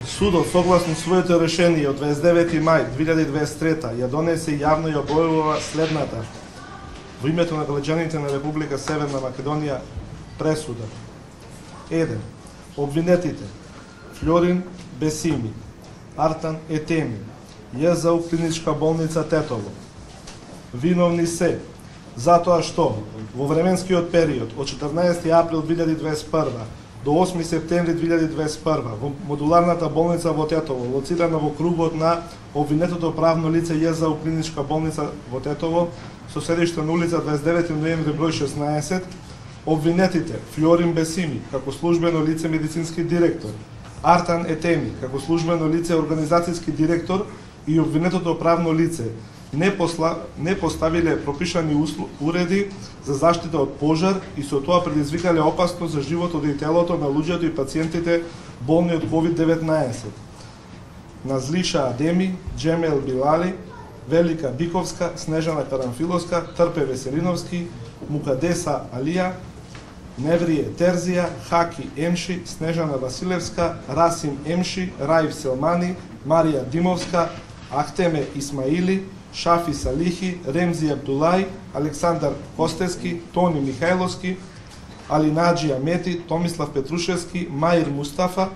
Судот, согласно своето решение од 29 мај 2023 ја донесе и јавно ја објавува следната во името на граѓаните на Република Северна Македонија пресуда. 1. Обвинетите Флорин Бесими, Артан Етеми, ЈЗУ Клиничка болница Тетово, виновни се затоа што во временскиот период од 14 април 2021 до 8 септември 2021 во модуларната болница во Тетово, лоцирана во кругот на обвинетото правно лице ЈЗУ Клиничка болница во Тетово, со седиште на улица 29 ноември број 16, обвинетите Флорин Бесими како службено лице медицински директор, Артан Етеми како службено лице организацијски директор и обвинетото правно лице не поставиле пропишани уреди за заштита од пожар и со тоа предизвикале опасност за животот и телото на луѓето и пациентите болни од COVID-19. Назлиша Адеми, Джемел Билали, Велика Биковска, Снежана Карамфиловска, Трпе Веселиновски, Мукадеса Алија, Неврие Терзија, Хаки Емши, Снежана Василевска, Расим Емши, Раив Селмани, Марија Димовска, Ахтеме Исмаили, Шафи Салихи, Ремзи Абдулај, Александар Костески, Тони Михајловски, Алинаджи Амети, Томислав Петрушевски, Маир Мустафа,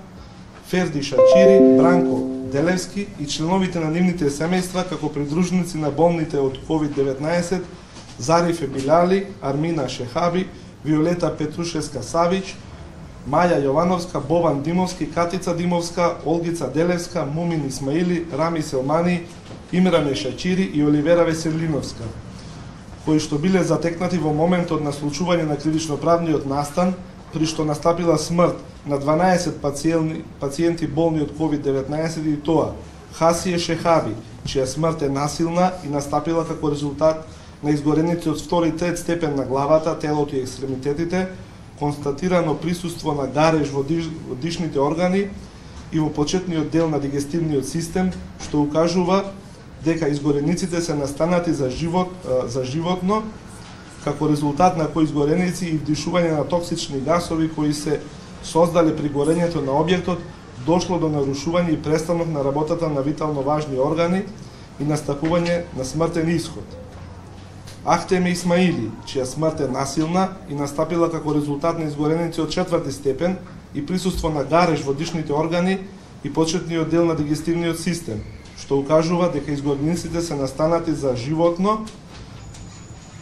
Ферди Шачири, Бранко Делевски и членовите на нивните семејства како придружници на болните од COVID-19, Зарифе Билали, Армина Шехаби, Виолета Петрушевска Савич, Маја Јовановска, Бован Димовски, Катица Димовска, Олгица Делевска, Мумин Исмаили, Рами Селмани, Имране Шачири и Оливера Веселиновска, кои што биле затекнати во моментот на случување на кривично-правниот настан, при што настапила смрт на 12 пациенти болни од COVID-19 и тоа Хасие Шехаби, чија смрт е насилна и настапила како резултат на изгореници од 2 и 3 степен на главата, телото и екстремитетите, констатирано присуство на гареж во дишните органи и во почетниот дел на дигестивниот систем, што укажува дека изгорениците се настанати за животно, како резултат на кои изгореници и вдишување на токсични гасови кои се создале при горењето на објектот, дошло до нарушување и престанок на работата на витално важни органи и настапување на смртен исход. Ахтеме Исмаили, чија смрт е насилна и настапила како резултат на изгореници од 4 степен и присуство на гареж во дишните органи и почетниот дел на дигестивниот систем, што укажува дека изгорениците се настанати за животно,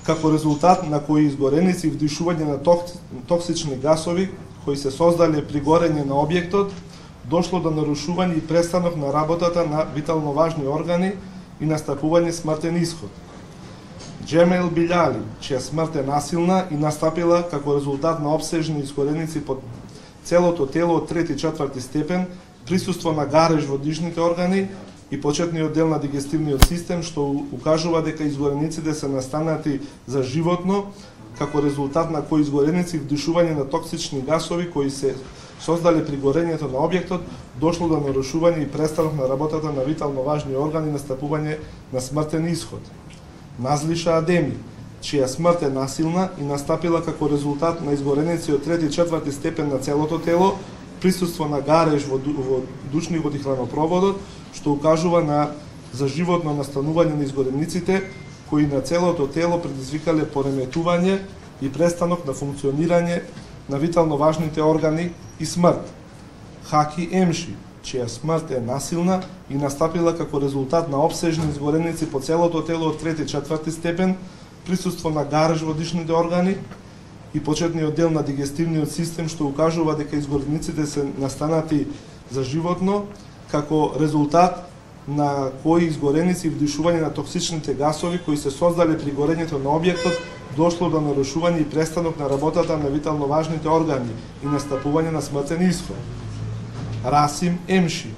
како резултат на кои изгореници и вдишување на токсични гасови кои се создале при горење на објектот, дошло до нарушување и престанок на работата на витално важни органи и настапување смртен исход. Джемел Билали, чија смрт е насилна и настапила како резултат на обсежни изгореници под целото тело од 3 и 4 степен, присуство на гареж во дишните органи и почетниот дел на дигестивниот систем, што укажува дека изгорениците се настанати за животно, како резултат на кои изгореници вдишување на токсични гасови кои се создале при горењето на објектот, дошло до нарушување и престанок на работата на витално важни органи и настапување на смртен исход. Назлиша Адеми, чија смрт е насилна и настапила како резултат на изгореници од 3 и 4 степен на целото тело, присуство на гареж во душникот и хранопроводот, што укажува на заживотно настанување на изгорениците, кои на целото тело предизвикале пореметување и престанок на функционирање на витално важните органи и смрт. Хаки Емши, чија смрт е насилна и настапила како резултат на обсежни изгореници по целото тело од 3 и 4 степен, присуство на гареж во дишните органи и почетниот дел на дигестивниот систем, што укажува дека изгорениците се настанати за животно, како резултат на кои изгореници и вдишување на токсичните гасови кои се создале при горењето на објектот, дошло до нарушување и престанок на работата на витално важните органи и настапување на смртен исход. Расим Емши,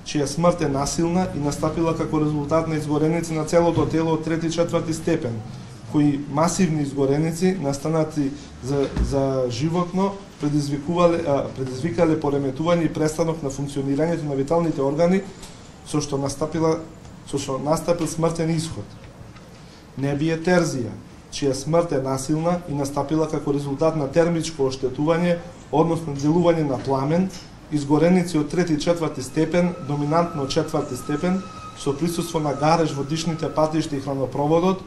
чија смрт е насилна и настапила како резултат на изгореници на целото тело од 3 и 4 степен, кои масивни изгореници настанати за животно предизвикале пореметување и престанок на функционирањето на виталните органи, со што настапил смртен исход. Небие Терзија, чија смрт е насилна и настапила како резултат на термичко оштетување, односно делување на пламен изгореници од 3 и 4 степен, доминантно 4 степен, со присуство на гареж во дишните патишта и хранопроводот,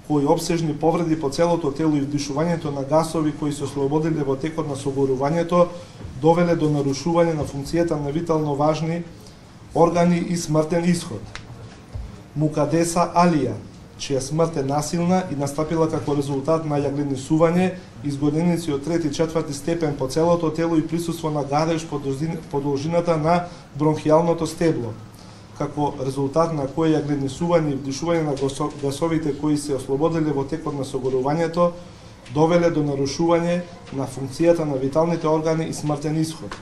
кои обсежни повреди по целото тело и вдишувањето на гасови кои се ослободиле во текот на согорувањето, довеле до нарушување на функцијата на витално важни органи и смртен исход. Мукадеса Алија, чија смрт е насилна и настапила како резултат на јагленисување, изгореници од 3 и 4 степен по целото тело и присуство на гареж по должината на бронхијалното стебло, како резултат на кое јагленисување и вдишување на гасовите кои се ослободиле во текот на согорувањето, довеле до нарушување на функцијата на виталните органи и смртен исход.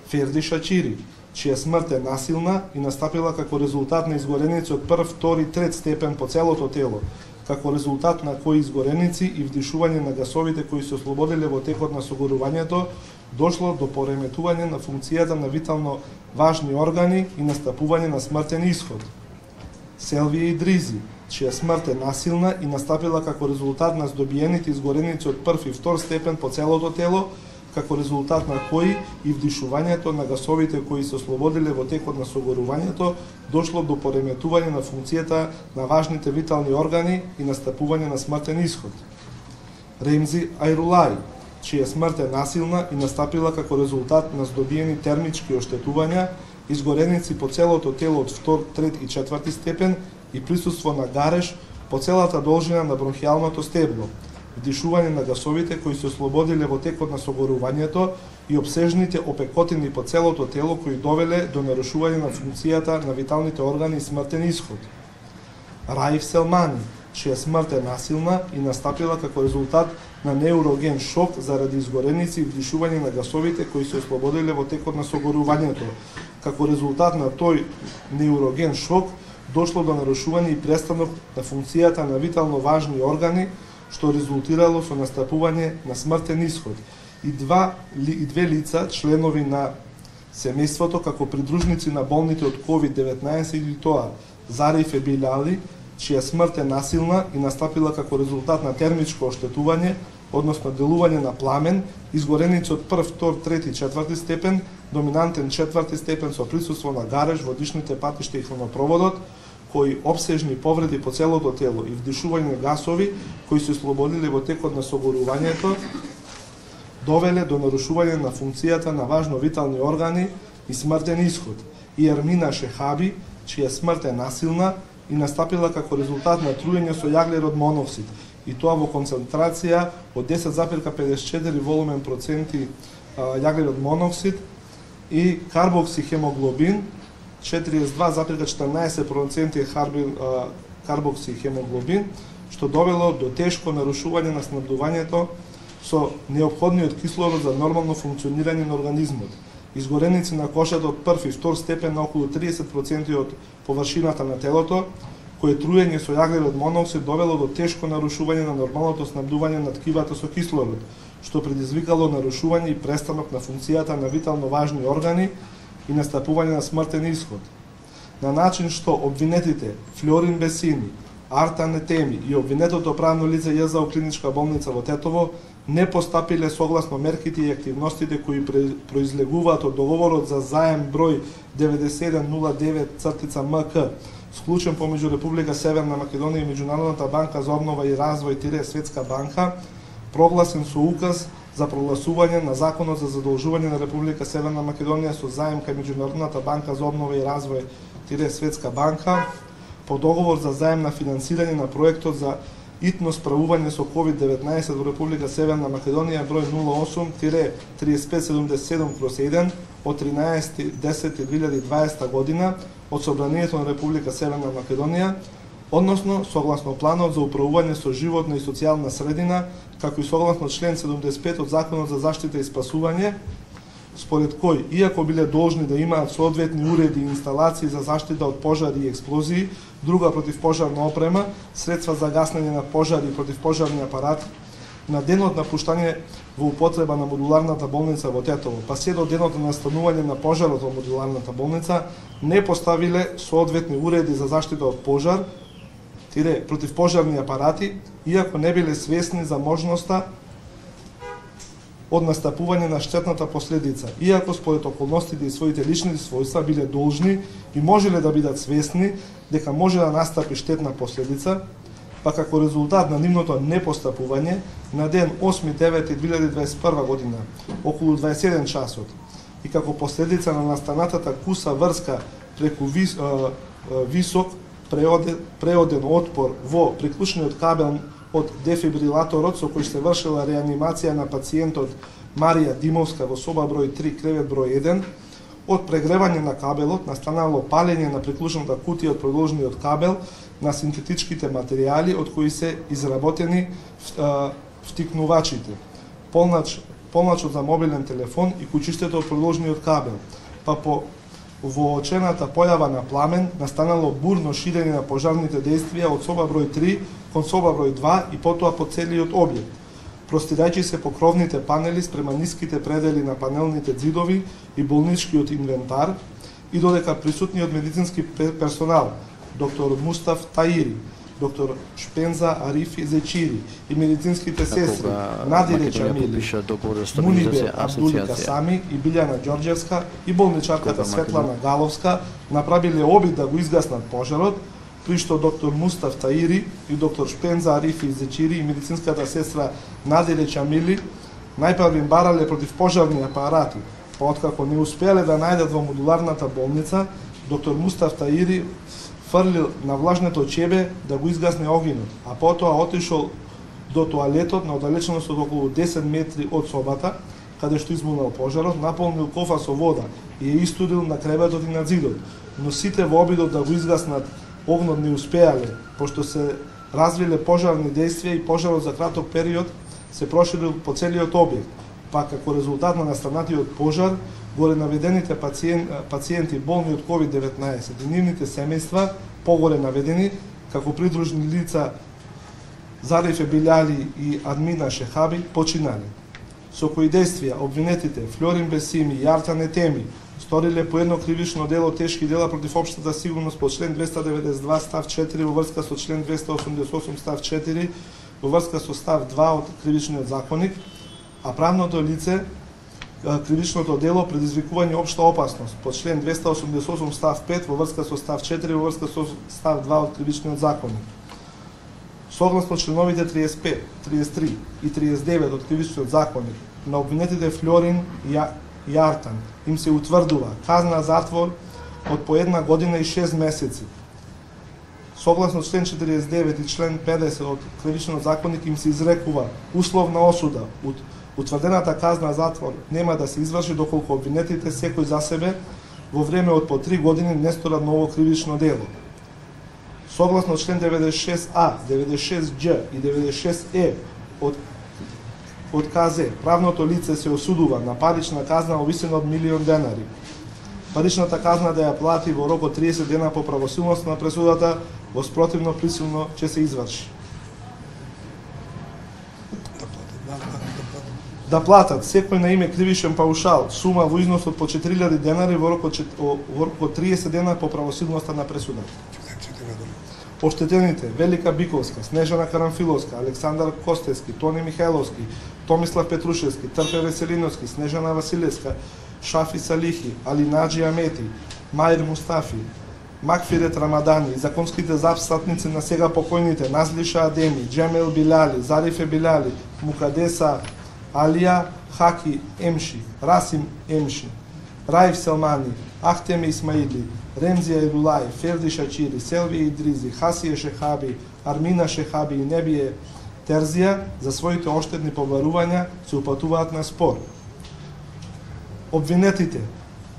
Ферди Шачири, чија смрт е насилна и настапила како резултат на изгореници од 1, 2 и 3 степен по целото тело, како резултат на кои изгореници и вдишување на гасовите кои се ослободиле во текот на согорувањето, дошло до пореметување на функцијата на витално важни органи и настапување на смртен исход. Селвија Идризи, чија смрт е насилна и настапила како резултат на здобиените изгореници од 1 и 2 степен по целото тело, како резултат на кои и вдишувањето на гасовите кои се ослободиле во текот на согорувањето, дошло до пореметување на функцијата на важните витални органи и настапување на смртен исход. Ремзи Ајрулај, чија смрт е насилна и настапила како резултат на здобиени термички оштетувања, изгореници по целото тело од 2, 3 и 4 степен и присуство на гареж по целата должина на бронхијалното стебло, вдишување на гасовите кои се ослободиле во текот на согорувањето и обсежните опекотини по целото тело кои довеле до нарушување на функцијата на виталните органи и смртен исход. Раиф Селмани, чија смрт е насилна и настапила како резултат на неуроген шок заради изгореници и вдишување на гасовите кои се ослободиле во текот на согорувањето. Како резултат на тој неуроген шок дошло до нарушување и престанок на функцијата на витално важни органи, што резултирало со настапување на смртен исход. И две лица, членови на семејството, како придружници на болните од COVID-19 и тоа Зариф Ебилали, чија смрт е насилна и настапила како резултат на термичко оштетување, односно делување на пламен, изгореници од 1, 2, 3 и 4 степен, доминантен 4 степен со присуство на гареж во дишните патишта и хронопроводот, кои обсежни повреди по целото тело и вдишување гасови кои се ослободиле во текот на согорувањето, довеле до нарушување на функцијата на важно витални органи и смртен исход. И Ермина Шехаби, чија смрт е насилна и настапила како резултат на труење со јаглерод моноксид, и тоа во концентрација од 10,54 волумен проценти јаглерод моноксид и карбоксихемоглобин 42,14% карбоксихемоглобин, што довело до тешко нарушување на снабдувањето со неопходниот кислород за нормално функционирање на организмот. Изгореници на кожата од 1 и 2 степен на околу 30% од површината на телото, кое труење со јаглерод моноксид довело до тешко нарушување на нормалното снабдување на ткивата со кислород, што предизвикало нарушување и престанок на функцијата на витално важни органи и настапување на смртен исход. На начин што обвинетите Флорин Бесини, Артан Етеми и обвинетото правно лице ЈЗО клиничка болница во Тетово не постапиле согласно мерките и активностите кои произлегуваат од договорот за заем број 9109-МК, склучен помеѓу Република Северна Македонија и Меѓународната банка за обнова и развој Светска банка, прогласен со указ за прогласување на Законот за задолжување на Република Северна Македонија со заем кај Меѓународната банка за обнова и развој Светска банка, по договор за заем на финансирање на проектот за итно справување со COVID-19 во Република Северна Македонија број 08-3577/1 од 13.10.2020 година од Собранието на Република Северна Македонија, односно согласно планот за управување со животна и социјална средина, како и согласно член 75 од Законот за заштита и спасување, според кој, иако биле должни да имаат соодветни уреди и инсталации за заштита од пожари и експлозии, друга противпожарна опрема, средства за гаснење на пожари и противпожарни апарати, на денот на пуштање во употреба на модуларната болница во Тетово, па се до денот на настанување на пожарот во модуларната болница, не поставиле соодветни уреди за заштита од пожар, противпожарни апарати, иако не биле свесни за можноста од настапување на штетната последица, иако според околностите и своите лични својства биле должни и можеле да бидат свесни дека може да настапи штетна последица, па како резултат на нивното непостапување, на ден 8.9.2021 година, околу 21 часот, и како последица на настанатата куса врска преку висок преоден отпор во приклучниот кабел од дефибрилаторот со кој се вршила реанимација на пациентот Марија Димовска во соба број 3, кревет број 1, од прегревање на кабелот настанало палење на приклучната кутија од продолжниот кабел на синтетичките материјали од кои се изработени втикнувачите, полначот за мобилен телефон и кучиштето од продолжниот кабел, па по воочената појава на пламен настанало бурно ширење на пожарните дејствија од соба број 3 кон соба број 2 и потоа по целиот објект, простирајќи се по кровните панели спрема ниските предели на панелните ѕидови и болничкиот инвентар, и додека присутниот медицински персонал, доктор Мустаф Таири, доктор Шпенза Арифи Зечири и медицинските сестри Надире Чамили, Мунибе Абдули Касами и Билјана Ѓорѓевска и болничарката Светлана Галовска направиле обид да го изгаснат пожарот, при што доктор Мустаф Таири и доктор Шпенза Арифи Зечири и медицинската сестра Надире Чамили најпрво барале против пожарни апарати, па откако не успеале да најдат во модуларната болница, доктор Мустаф Таири фрлил на влажното чебе да го изгасне огинот, а потоа отишол до тоалетот на оддалеченост од околу 10 метри од собата, каде што избунал пожарот, наполнил кофа со вода и ја истудил на креветот и на ѕидот, но сите во обидот да го изгаснат огнот не успеале, пошто се развиле пожарни дејствија и пожарот за краток период се проширил по целиот објект, па како резултат на настанатиот пожар, горе наведените пациенти болни од COVID-19 и нивните семејства, погоре наведени, како придружни лица Зарифе Биляли и Админа Шехаби, починале. Со кои дејствија обвинетите Флорин Бесими и Јартан Етеми сториле по едно кривично дело тешки дела против општата сигурност по член 292 став 4 во врска со член 288 став 4 во врска со став 2 од Кривичниот законник, а правното лице кривичното дело предизвикување општа опасност по член 288 став 5 во врска со став 4 во врска со став 2 од Кривичниот законник. Согласно членовите 35, 33 и 39 од Кривичниот законник на обвинетите Флорин и Јартан им се утврдува казна затвор од по 1 година и 6 месеци. Согласно член 49 и член 50 од Кривичниот законник им се изрекува условна осуда. Утврдената казна затвор нема да се изврши доколку обвинетите секој за себе во време од по 3 години не сторат ново кривично дело. Согласно член 96А, 96Ѓ и 96Е од КЗ, правното лице се осудува на парична казна во висина од 1.000.000 денари. Паричната казна да ја плати во рок од 30 дена по правосилност на пресудата, во спротивно присилно ќе се изврши. Да платат секој на име кривишен паушал, сума во износ од по 4.000 денари во рок од 30 дена по правосилноста на пресудата. Оштетените Велика Биковска, Снежана Карамфиловска, Александар Костевски, Тони Михајловски, Томислав Петрушевски, Трпе Веселиновски, Снежана Василевска, Шафи Салихи, Алинаджи Амети, Маир Мустафи, Макфирет Рамадани и законските застапници на сега покојните Назлиша Адеми, Џемел Биляли, Зарифе Биляли, Мукадеса Алија, Хаки Емши, Расим Емши, Раиф Селмани, Ахтеми Исмаили, Ремзија Ирулај, Ферди Шачири, Селви Идризи, Хасие Шехаби, Армина Шехаби и Небие Терзија за своите оштетни побарувања се упатуваат на спор. Обвинетите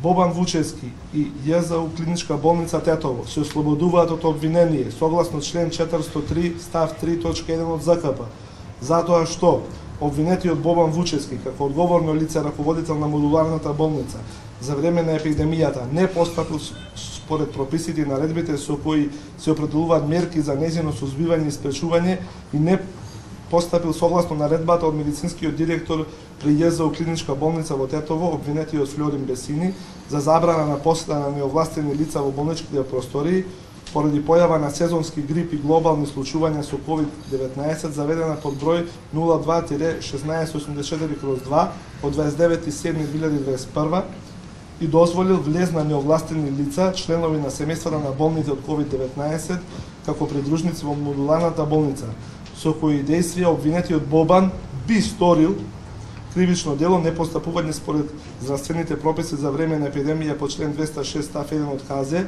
Бобан Вучевски и ЈЗУ Клиничка болница Тетово се ослободуваат од обвинение согласно член 403 став 3.1 од ЗКП, затоа што обвинетиот Бобан Вучевски како одговорно лице раководител на модуларната болница за време на епидемијата не постапил според прописите и наредбите со кои се определуваат мерки за нејзино сузбивање и спречување и не постапил согласно наредбата од медицинскиот директор при ЈЗУ Клиничка болница во Тетово, обвинетиот Флорин Бесини, за забрана на посета на неовластени лица во болничките простории, поради појава на сезонски грип и глобални случувања со COVID-19, заведена под број 02-1684/2 од 29.7.2021 и дозволил влез на неовластени лица, членови на семејствата на болните од COVID-19, како придружници во модуларната болница, со кои дејствија обвинетиот Бобан би сторил кривично дело непостапување според здравствените прописи за време на епидемија по член 206 став 1 од КЗ,